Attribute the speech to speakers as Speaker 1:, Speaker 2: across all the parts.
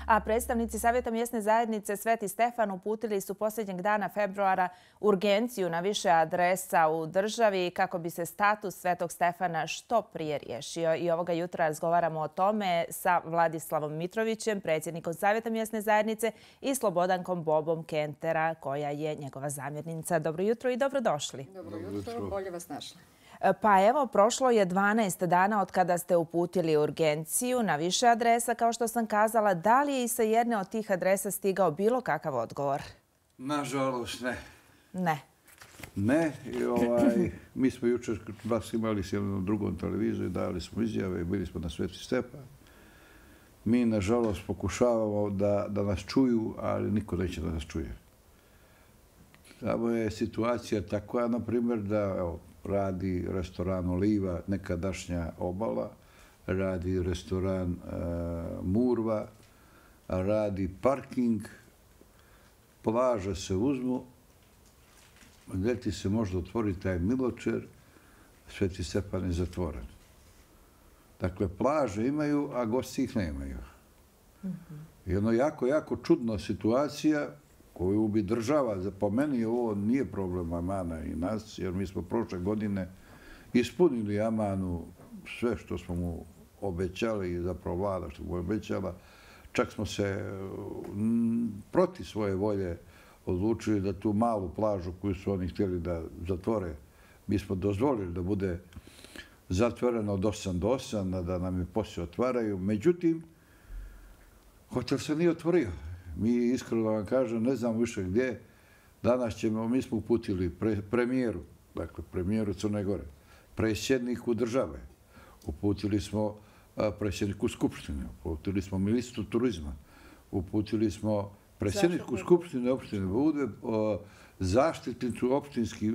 Speaker 1: A predstavnici Savjeta mjesne zajednice Sveti Stefan uputili su posljednjeg dana februara urgenciju na više adresa u državi kako bi se status Svetog Stefana što prije riješio. I ovoga jutra razgovaramo o tome sa Vladislavom Mitrovićem, predsjednikom Savjeta mjesne zajednice, i Slobodankom Bobom Kentera, koja je njegova zamjenica. Dobro jutro i dobrodošli.
Speaker 2: Dobro jutro, bolje vas našli.
Speaker 1: Pa evo, prošlo je 12 dana od kada ste uputili urgenciju na više adresa, kao što sam kazala. Da li je i sa jedne od tih adresa stigao bilo kakav odgovor?
Speaker 3: Nažalost, ne.
Speaker 1: Ne.
Speaker 3: Ne. Mi smo jučer vas imali s jednom drugom televiziju, dali smo izjave, bili smo na Sveti Stefan. Mi, nažalost, pokušavamo da nas čuju, ali niko neće da nas čuje. Tamo je situacija takva, na primjer, da radi restoran Oliva, nekadašnja Obala, radi restoran Murva, radi parking, plaže se uzmu, ljeti se možda otvori taj Miločer, Sveti Stefan je zatvoren. Dakle, plaže imaju, a gosti ih nemaju. Jedno jako čudna situacija koju bi država, po meni ovo nije problem Amana i nas, jer mi smo prošle godine ispunili Amanu sve što smo mu obećali i zapravo vlada što mu je obećala. Čak smo se protiv svoje volje odlučili da tu malu plažu koju su oni htjeli da zatvore, mi smo dozvolili da bude zatvorena od 8 do 8, da nam je poslije otvaraju. Međutim, hotel se nije otvorio. Mi, iskreno vam kažem, ne znam više gdje. Danas mi smo uputili premijeru, dakle premijeru Crne Gore, predsjedniku države, uputili smo predsjedniku Skupštine, uputili smo ministru turizma, uputili smo predsjedniku Skupštine opštine Budve, zaštitniku opštinskih...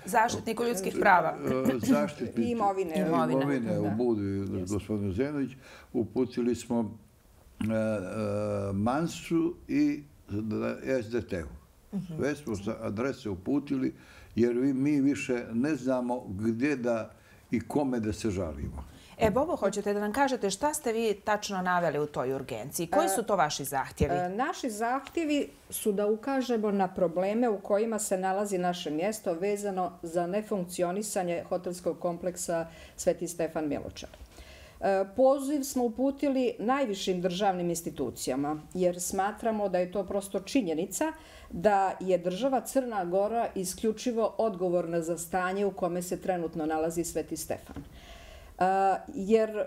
Speaker 1: Zaštitniku ljudskih prava.
Speaker 2: I imovine
Speaker 3: u Budvi, gospodinu Zenović. Uputili smo Mansu i SDT-u. Sve smo adrese uputili jer mi više ne znamo gdje da i kome da se žalimo.
Speaker 1: Bobo, hoćete da nam kažete šta ste vi tačno naveli u toj urgenciji? Koji su to vaši zahtjevi?
Speaker 2: Naši zahtjevi su da ukažemo na probleme u kojima se nalazi naše mjesto vezano za nefunkcionisanje hotelskog kompleksa Sveti Stefan Miločar. Poziv smo uputili najvišim državnim institucijama jer smatramo da je to prosto činjenica da je država Crna Gora isključivo odgovorna za stanje u kome se trenutno nalazi Sveti Stefan. Jer,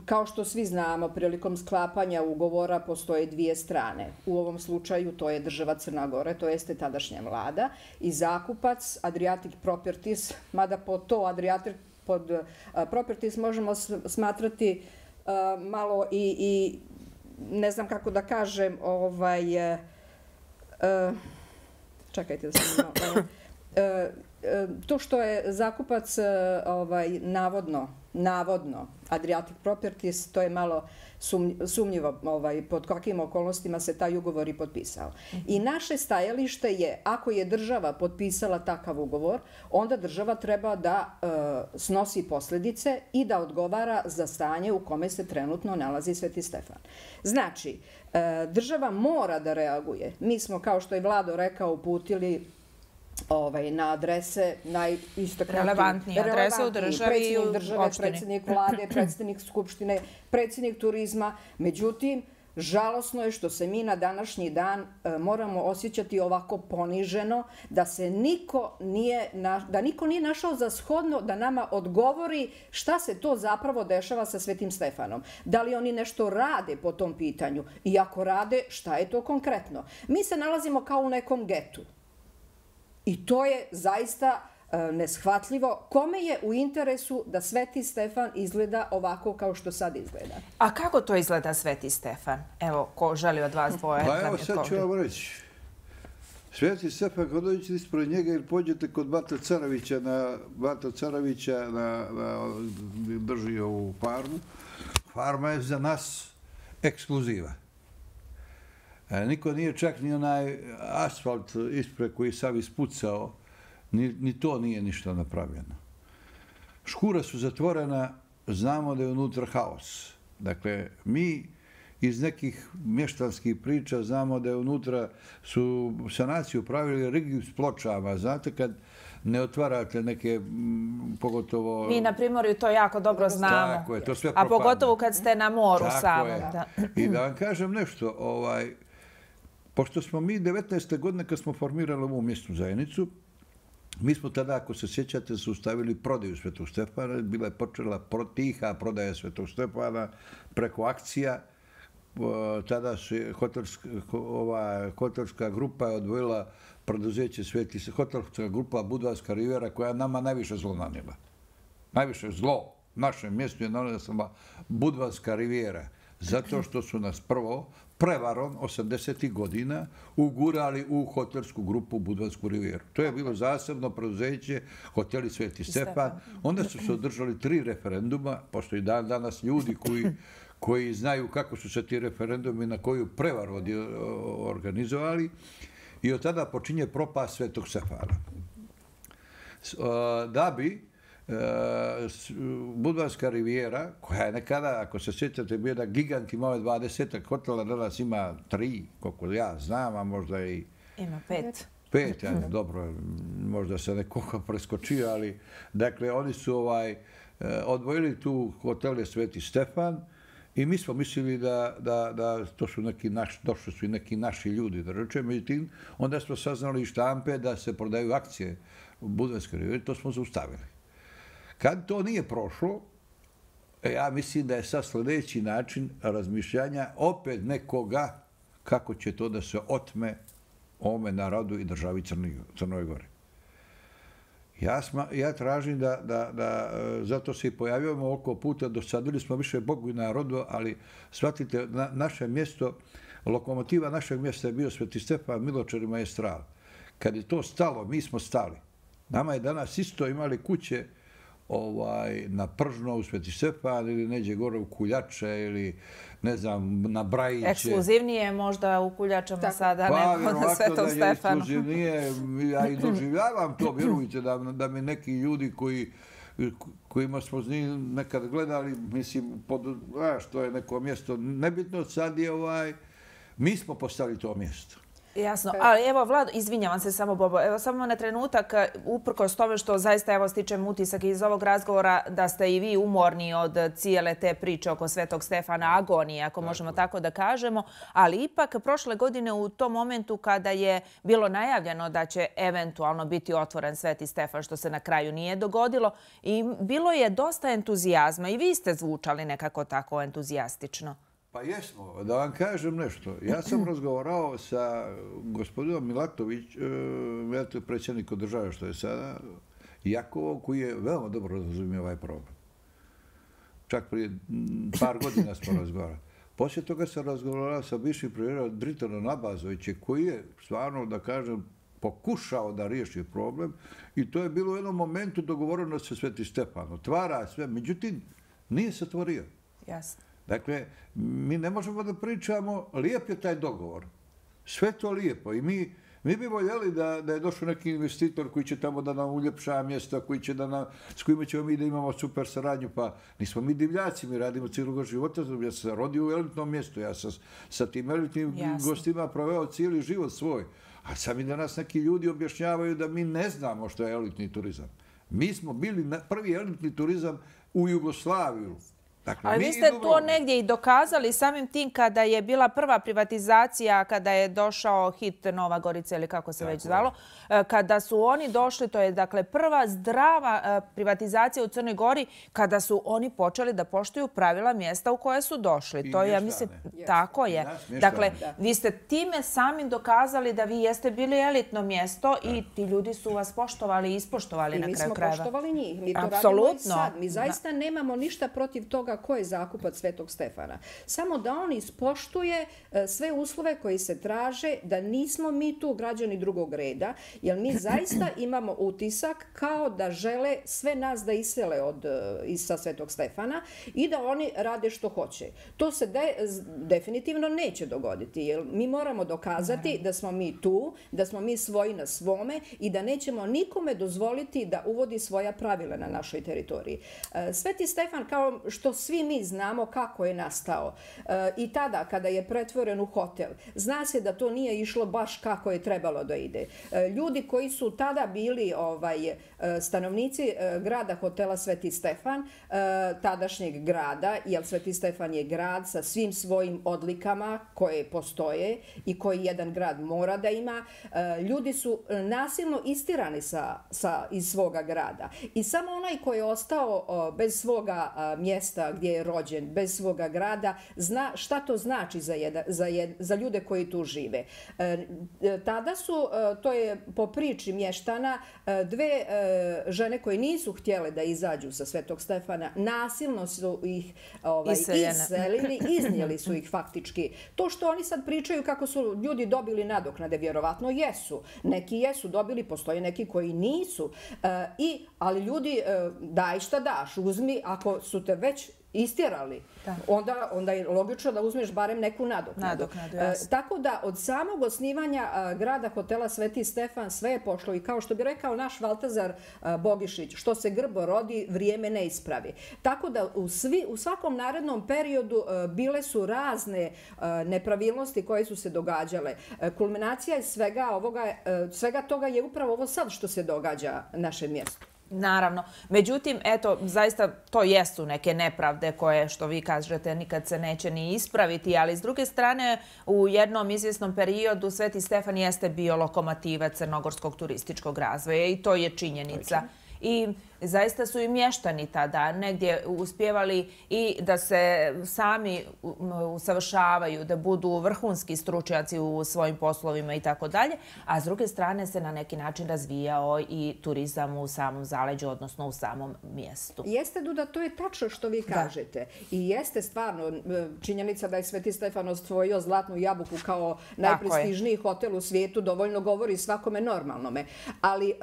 Speaker 2: kao što svi znamo, prilikom sklapanja ugovora postoje dvije strane. U ovom slučaju to je država Crna Gore, to jeste tadašnja vlada, i zakupac Adriatic Properties, mada po to Adriatic pod Properties možemo smatrati malo i ne znam kako da kažem, čekajte da sam to što je zakupac navodno Adriatic Properties, to je malo sumnjivo pod kakvim okolnostima se taj ugovor i potpisao. I naše stajalište je, ako je država potpisala takav ugovor, onda država treba da snosi posljedice i da odgovara za stanje u kome se trenutno nalazi Sveti Stefan. Znači, država mora da reaguje. Mi smo, kao što je Vlado rekao, uputili na adrese
Speaker 1: relevantnije adrese u državi i u opštini.
Speaker 2: Predsjednik vlade, predsjednik skupštine, predsjednik turizma. Međutim, žalosno je što se mi na današnji dan moramo osjećati ovako poniženo, da niko nije našao za shodno da nama odgovori šta se to zapravo dešava sa Svetim Stefanom. Da li oni nešto rade po tom pitanju? I ako rade, šta je to konkretno? Mi se nalazimo kao u nekom getu. I to je zaista neshvatljivo. Kome je u interesu da Sveti Stefan izgleda ovako kao što sad izgleda?
Speaker 1: A kako to izgleda Sveti Stefan? Evo, ko želi od vas dvoje?
Speaker 3: Pa evo sad ću vam reći. Sveti Stefan, kad dođete ispred njega ili pođete kod Bata Caravića drži ovu farmu. Farma je za nas ekskluziva. Niko nije čak ni onaj asfalt ispred koji sam ispucao, ni to nije ništa napravljeno. Škura su zatvorena, znamo da je unutra haos. Dakle, mi iz nekih mještanskih priča znamo da je unutra su sanaciju pravili rigiju s pločama. Znate, kad ne otvarate neke, pogotovo...
Speaker 1: Mi na Primorju to jako dobro znamo.
Speaker 3: Tako je, to sve
Speaker 1: A
Speaker 3: propadne.
Speaker 1: pogotovo kad ste na moru samom.
Speaker 3: I da vam kažem nešto, pošto smo mi 19. godine kad smo formirali ovu mjesnu zajednicu, mi smo tada, ako se sjećate, zaustavili prodaju Svetog Stefana. Bila je počela tiha prodaja Svetog Stefana preko akcija. Tada se hotelska grupa je odvojila preduzeće hotelska grupa Budvanska rivijera koja je nama najviše zlo nanijela. Najviše zlo našem mjestu je nanijela Budvanska rivijera. Zato što su nas prvo prevarom 80. godina ugurali u hotelsku grupu Budvansku rivijeru. To je bilo zasebno preduzeće hoteli Sveti Stefan. Onda su se održali 3 referenduma, pošto i danas ljudi koji znaju kako su se ti referendumi na koju prevaru organizovali. I od tada počinje propast Svetog Stefana. Da bi Budvanska rivijera, koja je nekada, ako se sjećate, bio da gigant imao 20 hotela, danas ima 3, koliko ja znam, a možda i...
Speaker 1: Ima 5.
Speaker 3: 5, dobro, možda se nekoga preskočio, ali dakle, oni su odvojili tu hotele Sveti Stefan i mi smo mislili da to su došli su i neki naši ljudi, da rečem, međutim, onda smo saznali iz štampe da se prodaju akcije u Budvanskoj rivijeri, to smo zaustavili. Kad to nije prošlo, ja mislim da je sad sljedeći način razmišljanja opet nekoga kako će to da se otme ovome narodu i državi Crnoj Gori. Ja tražim da zato se i pojavljujemo oko puta, dosadili smo više Bogu i narodu, ali shvatite, naše mjesto, lokomotiva našeg mjesta je bio Sveti Stefan, Miločar i Maestral. Kad je to stalo, mi smo stali. Nama je danas isto imali kuće na Pržno u Sveti Stefan ili neđe gore u Kuljače ili ne znam, na Brajiće.
Speaker 1: Ekskluzivnije možda u Kuljačama sada nego na Svetom Stefanu.
Speaker 3: Ekskluzivnije, ja i doživljavam to, vjerujte da mi neki ljudi kojima smo nekad gledali, mislim, što je neko mjesto nebitno, sad je mi smo postali to mjesto.
Speaker 1: Jasno, ali evo Vlado, izvinjavam se samo Bobo, evo samo na trenutak, uprkos tome što zaista evo stičem utisak iz ovog razgovora da ste i vi umorni od cijele te priče oko Svetog Stefana, agonije, ako možemo tako da kažemo, ali ipak prošle godine u tom momentu kada je bilo najavljeno da će eventualno biti otvoren Sveti Stefan, što se na kraju nije dogodilo, i bilo je dosta entuzijazma i vi ste zvučali nekako tako entuzijastično.
Speaker 3: Pa jesmo, da vam kažem nešto. Ja sam razgovarao sa gospodinom Milatovićem, predsjednikom države što je sada, Jakovom, koji je veoma dobro razumio ovaj problem. Čak prije par godina smo razgovarali. Poslije toga sam razgovarao sa bivšim premijerom Dritanom Abazovićem, koji je stvarno, da kažem, pokušao da riješi problem i to je bilo u jednom momentu dogovoreno sa Sveti Stefan. Otvara sve, međutim, nije se otvorio.
Speaker 1: Jasno.
Speaker 3: Dakle, mi ne možemo da pričamo, lijep je taj dogovor. Sve to lijepo i mi bi voljeli da je došao neki investitor koji će tamo da nam uljepša mjesta, s kojima ćemo mi da imamo super saradnju. Pa nismo mi divljaci, mi radimo cijelog života. Ja sam se rodio u elitnom mjestu, ja sam sa tim elitnim gostima proveo cijeli život svoj. A sami danas neki ljudi objašnjavaju da mi ne znamo što je elitni turizam. Mi smo bili prvi elitni turizam u Jugoslaviju.
Speaker 1: Ali vi ste to negdje i dokazali samim tim kada je bila prva privatizacija, kada je došao HIT Nova Gorica ili kako se već zvalo, kada su oni došli, to je dakle prva zdrava privatizacija u Crnoj Gori, kada su oni počeli da poštuju pravila mjesta u koje su došli. To ja mislim, tako je. Dakle, vi ste time samim dokazali da vi jeste bili elitno mjesto i ti ljudi su vas poštovali i ispoštovali na kraju krajeva.
Speaker 2: Mi smo poštovali njih. Mi to radimo i sad. Mi zaista nemamo ništa protiv toga ko je zakupac Svetog Stefana. Samo da on ispoštuje sve uslove koji se traže, da nismo mi tu građani drugog reda, jer mi zaista imamo utisak kao da žele sve nas da isele sa Svetog Stefana i da oni rade što hoće. To se definitivno neće dogoditi, jer mi moramo dokazati da smo mi tu, da smo mi svoji na svome i da nećemo nikome dozvoliti da uvodi svoja pravila na našoj teritoriji. Sveti Stefan, kao što svi mi znamo kako je nastao. I tada, kada je pretvoren u hotel, zna se da to nije išlo baš kako je trebalo da ide. Ljudi koji su tada bili stanovnici grada hotela Sveti Stefan, tadašnjeg grada, jer Sveti Stefan je grad sa svim svojim odlikama koje postoje i koji jedan grad mora da ima, ljudi su nasilno istirani iz svoga grada. I samo onaj koji je ostao bez svoga mjesta gdje je rođen, bez svoga grada, zna šta to znači za ljude koji tu žive. Tada su, to je po priči mještana, dve žene koje nisu htjele da izađu sa Svetog Stefana, nasilno su ih iselili, iznijeli su ih faktički. To što oni sad pričaju kako su ljudi dobili nadoknade, vjerovatno jesu. Neki jesu dobili, postoje neki koji nisu. Ali ljudi, daj šta daš, uzmi, ako su te već istjerali, onda je logično da uzmeš barem neku nadoknadu. Tako da od samog osnivanja grada hotela Sveti Stefan sve je pošlo i kao što bi rekao naš Valtazar Bogišić, što se grbo rodi, vrijeme ne ispravi. Tako da u svakom narednom periodu bile su razne nepravilnosti koje su se događale. Kulminacija svega toga je upravo ovo sad što se događa našem mjestu.
Speaker 1: Naravno. Međutim, eto, zaista to jesu neke nepravde koje, što vi kažete, nikad se neće ni ispraviti, ali s druge strane, u jednom izvjesnom periodu Sveti Stefan jeste bio lokomotiva crnogorskog turističkog razvoja i to je činjenica. I zaista su i mještani tada negdje uspjevali i da se sami usavršavaju, da budu vrhunski stručnjaci u svojim poslovima i tako dalje, a s druge strane se na neki način razvijao i turizam u samom zaleđu, odnosno u samom mjestu.
Speaker 2: Jeste, Duda, to je tačno što vi kažete. I jeste stvarno činjenica da je Sveti Stefan osvojio Zlatnu jabuku kao najprestižniji hotel u svijetu, dovoljno govori svakome normalnome. Ali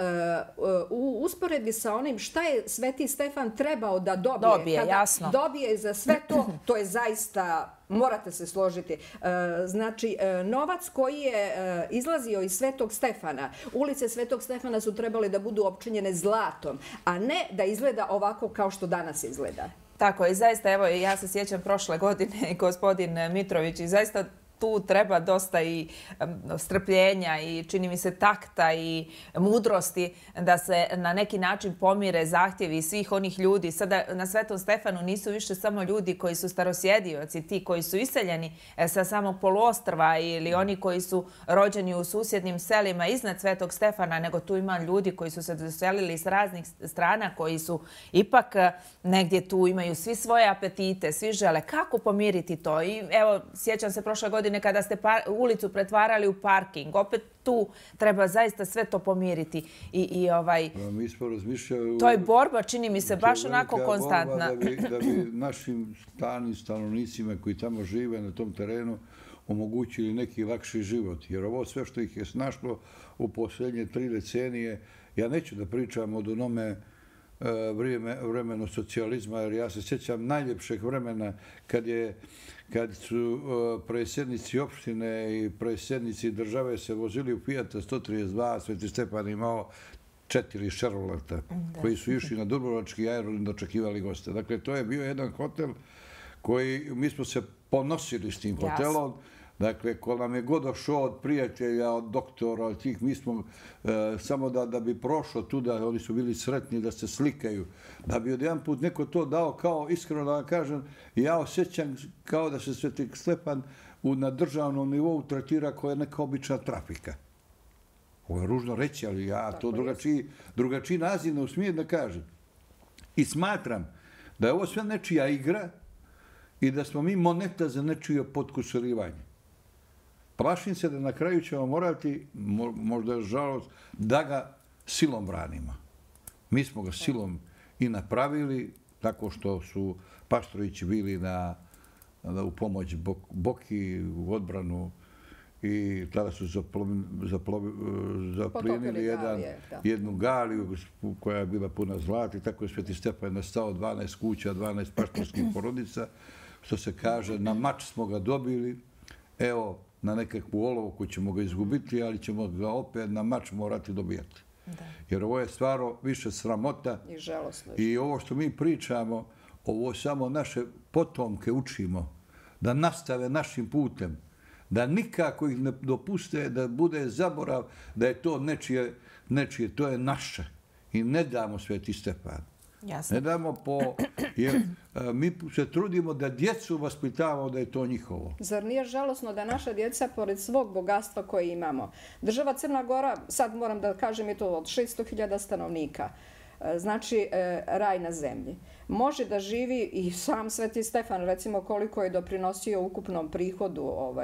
Speaker 2: u usporedbi sa onim šta je Sveti Stefan trebao da dobije, kada dobije za sve to, to je zaista, morate se složiti. Znači, novac koji je izlazio iz Svetog Stefana, ulice Svetog Stefana su trebale da budu opčinjene zlatom, a ne da izgleda ovako kao što danas izgleda.
Speaker 1: Tako je, zaista, evo, ja se sjećam prošle godine, gospodin Mitrović, i zaista tu treba dosta i strpljenja i čini mi se takta i mudrosti da se na neki način pomire zahtjevi svih onih ljudi. Sada na Svetom Stefanu nisu više samo ljudi koji su starosjedioci, ti koji su iseljeni sa samog poluostrva ili oni koji su rođeni u susjednim selima iznad Svetog Stefana, nego tu ima ljudi koji su se doselili s raznih strana, koji su ipak negdje tu, imaju svi svoje apetite, svi žele. Kako pomiriti to? I evo, sjećam se prošle godine kada ste ulicu pretvarali u parking. Opet tu treba zaista sve to pomiriti.
Speaker 3: Mi smo razmišljali...
Speaker 1: To je borba, čini mi se, baš onako konstantna.
Speaker 3: Da bi našim stanovnicima koji tamo žive na tom terenu omogućili neki lakši život. Jer ovo sve što ih je snašlo u posljednje 3 decenije, ja neću da pričam od onome vremenu socijalizma, jer ja se sjećam najljepšeg vremena kad su predsjednici opštine i predsjednici države se vozili u Fijata 132, Sveti Stefan imao 4 Chevroleta koji su išli na Dubrovački aerodrom da očekivali goste. Dakle, to je bio jedan hotel koji, mi smo se ponosili s tim hotelom. Dakle, ko nam je god došao od prijatelja, od doktora, od tih, mi smo samo da bi prošlo tu, da oni su bili sretni da se slikaju, da bi od jedan put neko to dao, kao iskreno da vam kažem, ja osjećam kao da se Sveti Stefan na državnom nivou tretira kao neka obična trafika. Ovo je ružno reći, ali ja to drugačiji naziv ne usmijem da kažem. I smatram da je ovo sve nečija igra i da smo mi moneta za nečije potkusurivanje. Plašim se da na kraju ćemo morati, možda je žalost, da ga silom branimo. Mi smo ga silom i napravili, tako što su Paštrovići bili u pomoć Boki, u odbranu, i tada su zaplijenili jednu galiju koja je bila puna zlata i tako je Sveti Stefan nastao 12 kuća, 12 paštorskih porodica. Što se kaže, na mač smo ga dobili, evo, na nekakvu olovku ćemo ga izgubiti, ali ćemo ga opet na mač morati dobijati. Jer ovo je stvarno više sramota.
Speaker 2: I žalosno.
Speaker 3: I ovo što mi pričamo, ovo samo naše potomke učimo da nastave našim putem, da nikako ih ne dopuste da bude zaborav da je to nečije, to je naše. I ne damo Sveti Stefan.
Speaker 1: Jasno.
Speaker 3: Ne damo jer mi se trudimo da djecu vaspitavamo da je to njihovo.
Speaker 2: Zar nije žalosno da naša djeca, pored svog bogatstva koje imamo, država Crna Gora, sad moram da kažem je to od 600.000 stanovnika, znači raj na zemlji. Može da živi i sam Sveti Stefan, recimo koliko je doprinosio ukupnom prihodu od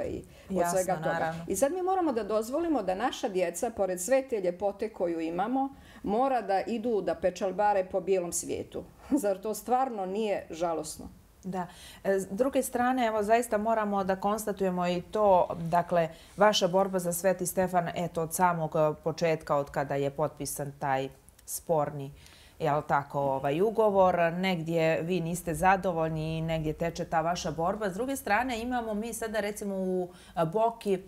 Speaker 2: svega toga.
Speaker 1: Naravno.
Speaker 2: I sad mi moramo da dozvolimo da naša djeca, pored sve te ljepote koju imamo, mora da idu da pečalbare po bijelom svijetu. Zar to stvarno nije žalosno?
Speaker 1: Da. S druge strane, evo, zaista moramo da konstatujemo i to, dakle, vaša borba za Sveti Stefan, eto, od samog početka, od kada je potpisan taj sporni ugovor, negdje vi niste zadovoljni i negdje teče ta vaša borba. S druge strane, imamo mi sada recimo u Boki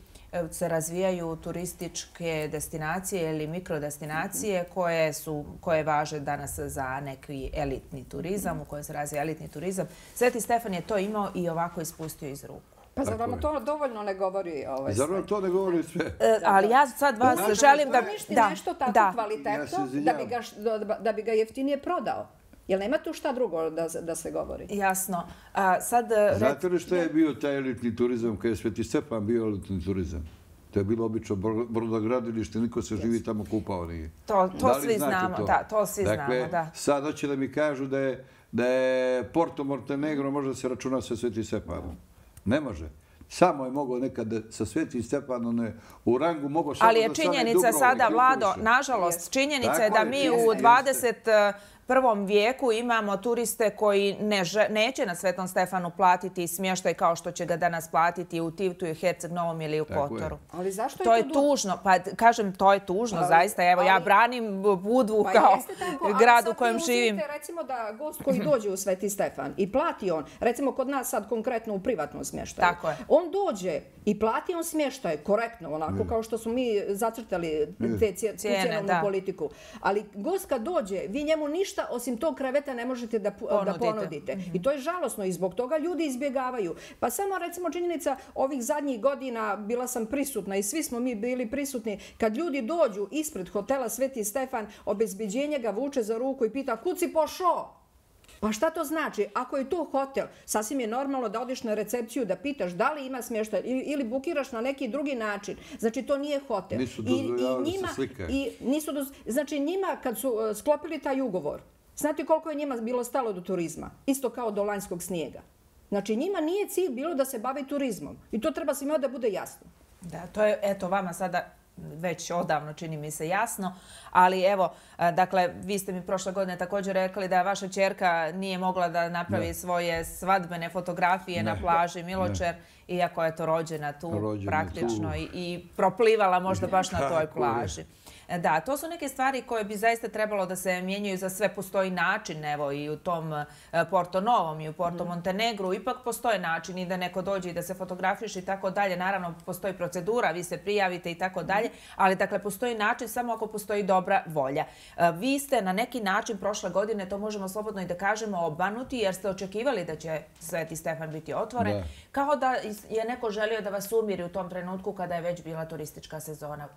Speaker 1: se razvijaju turističke destinacije ili mikrodestinacije koje važe danas za neki elitni turizam, u kojem se razvija elitni turizam. Sveti Stefan je to imao i ovako ispustio iz ruku.
Speaker 2: Pa zar vam to dovoljno ne govori sve?
Speaker 3: Zar vam to ne govori sve?
Speaker 1: Ali ja sad vas želim da...
Speaker 2: Uništi nešto tako kvalitetno da bi ga jeftinije prodao. Jel nema tu šta drugo da se govori?
Speaker 1: Jasno.
Speaker 3: Znate li što je bio taj elitni turizam kada je Sveti Stefan bio elitni turizam? To je bilo obično brodogradilište, niko se živi tamo kupao nije.
Speaker 1: To svi znamo, da, to svi znamo, da.
Speaker 3: Dakle, sad hoće da mi kažu da je Porto Montenegro može da se računa sa Sveti Stefanom. Ne može. Samo je mogao nekad sa Svetim Stefanom u rangu mogao samo da stane Dubrovnik.
Speaker 1: Ali je činjenica sada, Vlado, nažalost, činjenica je da mi u 21. vijeku imamo turiste koji neće na Svetom Stefanu platiti smještaj kao što će ga danas platiti u Tivtu i Herceg Novom ili u Kotoru.
Speaker 2: Ali zašto
Speaker 1: to je tužno? Pa kažem, to je tužno, zaista. Evo, ja branim Budvu kao grad u kojem živim.
Speaker 2: Ali sad vi uzmite recimo da gost koji dođe u Sveti Stefan i plati on, recimo kod nas sad konkretno u privatnom smještaju.
Speaker 1: Tako je.
Speaker 2: On dođe i plati on smještaj korektno, onako kao što smo mi zacrtali tu cjenovnu politiku. Ali gost kad dođe, vi njemu ništa osim tog kreveta ne možete da ponudite. I to je žalosno i zbog toga ljudi izbjegavaju. Pa samo recimo činjenica ovih zadnjih godina, bila sam prisutna i svi smo mi bili prisutni, kad ljudi dođu ispred hotela Sveti Stefan, obezbeđenje ga vuče za ruku i pita kud si pošao? Pa šta to znači? Ako je to hotel, sasvim je normalno da odiš na recepciju da pitaš da li ima smještaj ili bukiraš na neki drugi način. Znači, to nije hotel.
Speaker 3: Nisu dozvoljavali da se slikaju.
Speaker 2: Znači, njima kad su sklopili taj ugovor, znate koliko je njima bilo stalo do turizma? Isto kao do lanjskog snijega. Znači, njima nije cilj bilo da se bavi turizmom. I to treba svima da bude jasno.
Speaker 1: Da, to je, eto, vama sada već odavno čini mi se jasno, ali evo, dakle, vi ste mi prošle godine također rekli da vaša ćerka nije mogla da napravi svoje svadbene fotografije na plaži Miločer, iako je to rođena tu praktično i proplivala možda baš na toj plaži. Da, to su neke stvari koje bi zaista trebalo da se mijenjaju. Za sve postoji način, evo i u tom Porto Novom i u Porto Montenegru. Ipak postoje način i da neko dođe i da se fotografiše i tako dalje. Naravno, postoji procedura, vi se prijavite i tako dalje, ali dakle, postoji način samo ako postoji dobra volja. Vi ste na neki način prošle godine, to možemo slobodno i da kažemo, obmanuti jer ste očekivali da će Sveti Stefan biti otvoren, kao da je neko želio da vas umiri u tom trenutku kada je već bila turistička sezona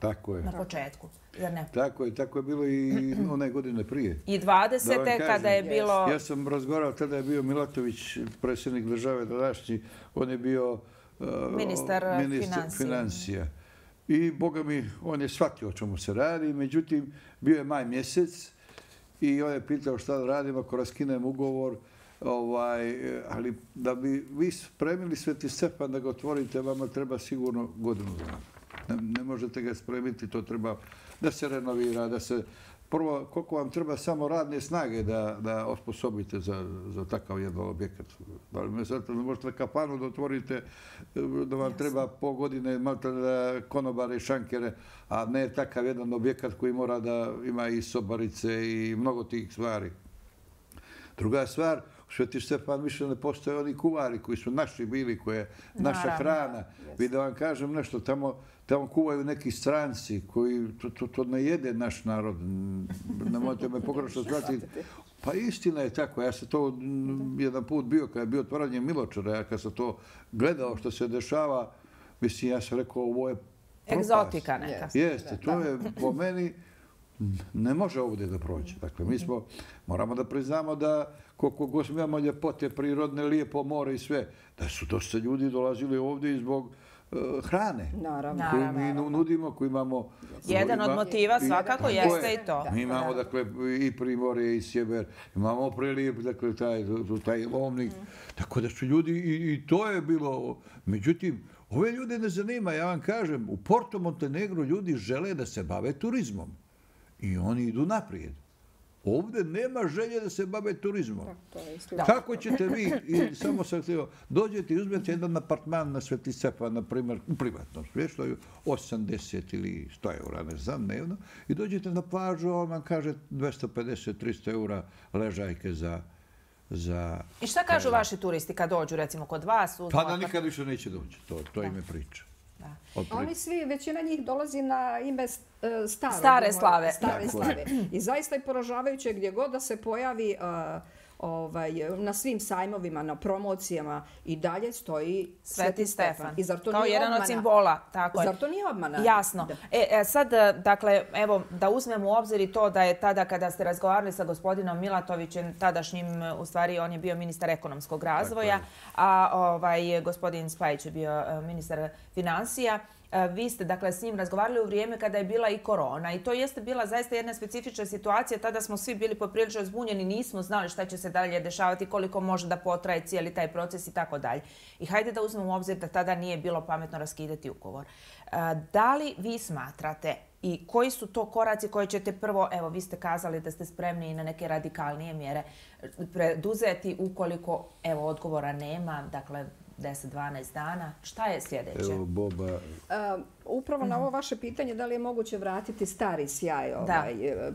Speaker 1: na početku.
Speaker 3: Tako je bilo i one godine prije.
Speaker 1: I 20. kada je bilo...
Speaker 3: Ja sam razgovarao, tada je bio Milatović, predsjednik države današnji, on je bio
Speaker 1: ministar
Speaker 3: financija. I, boga mi, on je shvatio o čemu se radi, međutim, bio je maj mjesec i on je pitao šta da radim ako raskinem ugovor, ali da bi vi spremili Sveti Stefan da ga otvorite, vama treba sigurno godinu dana. Ne možete ga spremiti, to treba da se renovira, da se... Prvo, koliko vam treba samo radne snage da osposobite za takav jedan objekat. Ne možete kafanu da otvorite, da vam treba pol godine konobare i šankere, a ne takav jedan objekat koji mora da ima i sobarice i mnogo tih stvari. Druga stvar, u Sveti Stefan više ne postoje oni kuvari koji su naši bili, koje je naša hrana. Vi da vam kažem nešto, tamo kuvaju neki stranci koji to ne jede naš narod. Nemojte me pogrešno shvatiti. Pa istina je tako. Ja sam to jedan put bio, kada je bio otvaranje Miločara, ja kad sam to gledao što se dešava, mislim, ja sam rekao, ovo je propast.
Speaker 1: Egzotika neka.
Speaker 3: Jeste, to je po meni, ne može ovdje da prođe. Dakle, mi moramo da priznamo da koliko god imamo ljepote, prirodne, lijepo more i sve, da su dosta ljudi dolazili ovdje i zbog hrane koju mi nudimo, koju imamo...
Speaker 1: Jedan od motiva svakako jeste i to.
Speaker 3: Mi imamo, dakle, i primorje i sjever, imamo prelijep, dakle, taj lovnik. Tako da su ljudi, i to je bilo... Međutim, ove ljude ne zanima, ja vam kažem, u Porto Montenegro ljudi žele da se bave turizmom. I oni idu naprijed. Ovdje nema želje da se bave turizmom. Kako ćete vi, samo sam htio, dođete i uzmete jedan apartman na Sveti Stefan, na primjer, u privatnom smještaju, 80 ili 100 eura, ne znam, dnevno, i dođete na plažu, on vam kaže 250-300 eura ležajke za...
Speaker 1: I šta kažu vaši turisti kad dođu, recimo, kod vas?
Speaker 3: Pa da nikad više neće doći, to im je priča.
Speaker 2: Oni svi, većina njih dolazi na ime
Speaker 1: stare slave.
Speaker 2: I zaista je poražavajuće gdje god da se pojavi na svim sajmovima, na promocijama i dalje stoji
Speaker 1: Sveti Stefan. Kao jedan od simbola.
Speaker 2: Zar to nije obmana?
Speaker 1: Jasno. Sad, dakle, evo, da uzmemo u obzir i to da je tada kada ste razgovarali sa gospodinom Milatovićem, tadašnjim, u stvari, on je bio ministar ekonomskog razvoja, a gospodin Spajić je bio ministar financija. Vi ste, dakle, s njim razgovarali u vrijeme kada je bila i korona i to jeste bila zaista jedna specifična situacija. Tada smo svi bili poprilično zbunjeni, nismo znali šta će se dalje dešavati, koliko može da potraje cijeli taj proces i tako dalje. I hajde da uzmemo u obzir da tada nije bilo pametno raskidati ugovor. Da li vi smatrate i koji su to koraci koje ćete prvo, evo, vi ste kazali da ste spremni i na neke radikalnije mjere preduzeti ukoliko, evo, odgovora nema, dakle, 10-12 dana. Šta je sljedeće?
Speaker 3: Evo, Boba...
Speaker 2: Upravo na ovo vaše pitanje da li je moguće vratiti stari sjaj.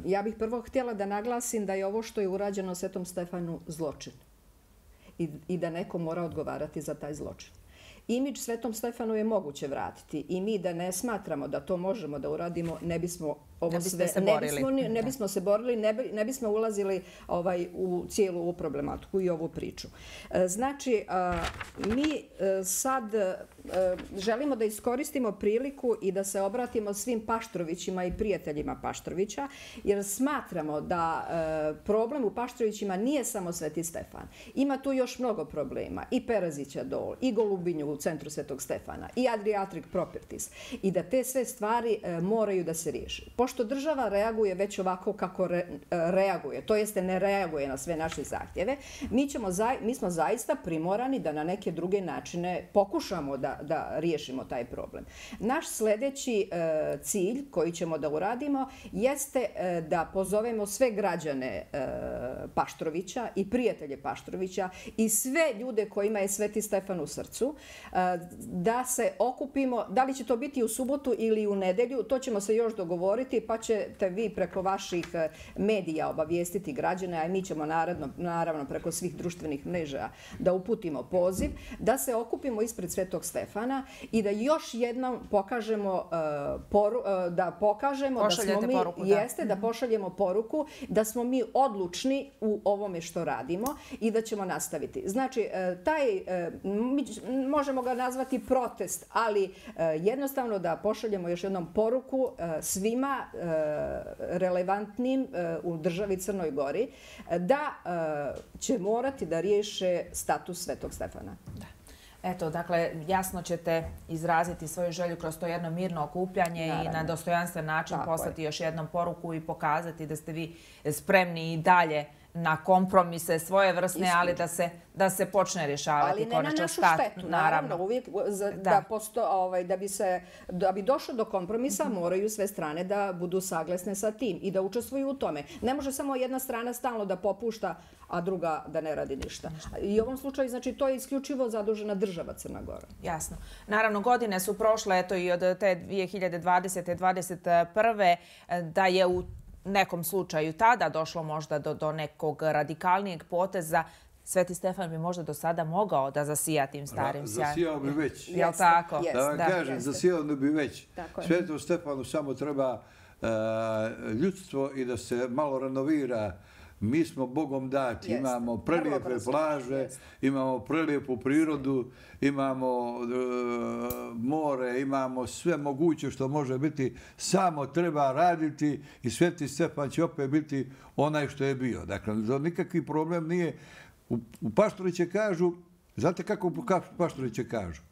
Speaker 2: Ja bih prvo htjela da naglasim da je ovo što je urađeno Svetom Stefanu zločin. I da neko mora odgovarati za taj zločin. Imidž Svetom Stefanu je moguće vratiti i mi da ne smatramo da to možemo da uradimo, ne bismo se borili, ne bismo ulazili u cijelu ovu problematiku i ovu priču. Znači, mi sad želimo da iskoristimo priliku i da se obratimo svim Paštrovićima i prijateljima Paštrovića, jer smatramo da problem u Paštrovićima nije samo Sveti Stefan. Ima tu još mnogo problema. I Perazića dol, i Golubinju u centru Svetog Stefana, i Adriatic Properties. I da te sve stvari moraju da se riješi. Pošto država reaguje već ovako kako reaguje, to jeste ne reaguje na sve naše zahtjeve, mi smo zaista primorani da na neke druge načine pokušamo da riješimo taj problem. Naš sljedeći cilj koji ćemo da uradimo jeste da pozovemo sve građane Paštrovića i prijatelje Paštrovića i sve ljude kojima je Sveti Stefan u srcu, da se okupimo, da li će to biti u subotu ili u nedelju, to ćemo se još dogovoriti, pa ćete vi preko vaših medija obavijestiti građane, a mi ćemo naravno preko svih društvenih mreža da uputimo poziv, da se okupimo ispred Svetog Stefana i da još jednom pokažemo da pošaljemo poruku da smo mi odlučni u ovome što radimo i da ćemo nastaviti. Znači, možemo ga nazvati protest, ali jednostavno da pošaljemo još jednom poruku svima relevantnim u državi Crnoj Gori da će morati da riješe status Svetog Stefana.
Speaker 1: Eto, dakle, jasno ćete izraziti svoju želju kroz to jedno mirno okupljanje i na dostojanstven način poslati još jednom poruku i pokazati da ste vi spremni i dalje na kompromise svoje vrstne, ali da se počne rješavati konačno
Speaker 2: status. Ali ne na našu štetu, naravno. Uvijek da bi došlo do kompromisa moraju sve strane da budu saglasne sa tim i da učestvuju u tome. Ne može samo jedna strana stalno da popušta, a druga da ne radi ništa. I u ovom slučaju, znači, to je isključivo zadužena država Crna Gora.
Speaker 1: Jasno. Naravno, godine su prošle, eto i od te 2020. 2021. da je u nekom slučaju tada došlo možda do nekog radikalnijeg poteza. Sveti Stefan bi možda do sada mogao da zasija tim starim sjajem.
Speaker 3: Zasijao bi već.
Speaker 1: Jel' tako?
Speaker 3: Da vam kažem, zasijao bi već. Svetom Stefanu samo treba ljudstvo i da se malo renovira. Mi smo Bogom dati, imamo prelijepe plaže, imamo prelijepu prirodu, imamo more, imamo sve moguće što može biti, samo treba raditi i Sveti Stefan će opet biti onaj što je bio. Dakle, nikakvi problem nije. U Paštoriće kažu, znate kako Paštoriće kažu?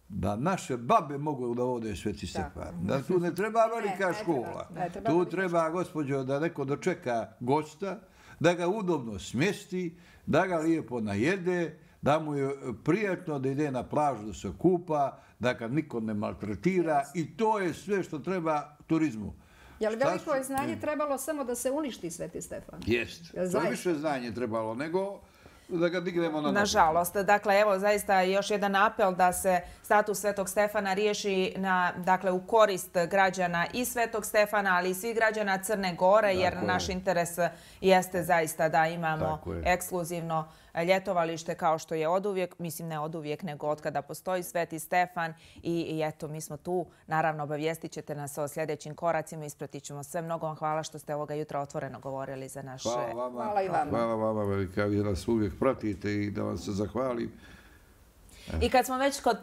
Speaker 3: Da naše babe mogu da vode Sveti Stefan. Da tu ne treba velika škola. Tu treba, gospođo, da neko dočeka gosta, da ga udobno smjesti, da ga lijepo najede, da mu je prijatno da ide na plažu da se kupa, da ga niko ne maltretira i to je sve što treba turizmu.
Speaker 2: Je li veliko je znanje trebalo samo da se uništi Sveti Stefan?
Speaker 3: Jest. To je više znanje trebalo nego da ga dignemo na noge.
Speaker 1: Nažalost. Dakle, evo, zaista još jedan apel da se status Svetog Stefana riješi u korist građana i Svetog Stefana, ali i svih građana Crne Gore, jer naš interes jeste zaista da imamo ekskluzivno ljetovalište kao što je oduvijek, mislim ne oduvijek, nego od kada postoji Sveti Stefan i eto, mi smo tu. Naravno, obavijestit ćete nas o sljedećim koracima, ispratit ćemo sve. Mnogo vam hvala što ste ovoga jutra otvoreno govorili za naše...
Speaker 2: Hvala i vama.
Speaker 3: Hvala vama, velika, vi nas uvijek pratite i da vam se zahvalim.
Speaker 1: I kad smo već kod